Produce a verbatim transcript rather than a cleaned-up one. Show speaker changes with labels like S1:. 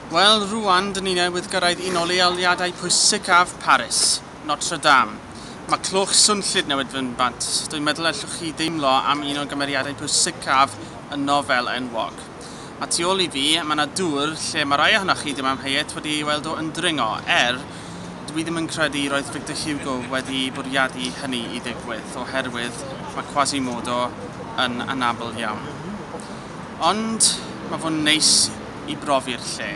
S1: Wel, rwan, dyn ni newydd gyrraedd un o leoliadau pwysicaf Paris, Notre Dame. Mae cloch swnllyd newydd fynd bant. Dwi'n meddwl allwch chi deimlo am un o gymeriadau pwysicaf y nofel enwog. A tu ôl i fi, mae yna dŵr lle mae rai ohonoch chi ddim amheuaeth wedi ei weld o yn dringo, er dwi ddim yn credu roedd Victor Hugo wedi bwriadu hynny i ddigwydd, oherwydd mae Quasimodo yn anabl iawn. Ond mae fo'n neis i brofi'r lle.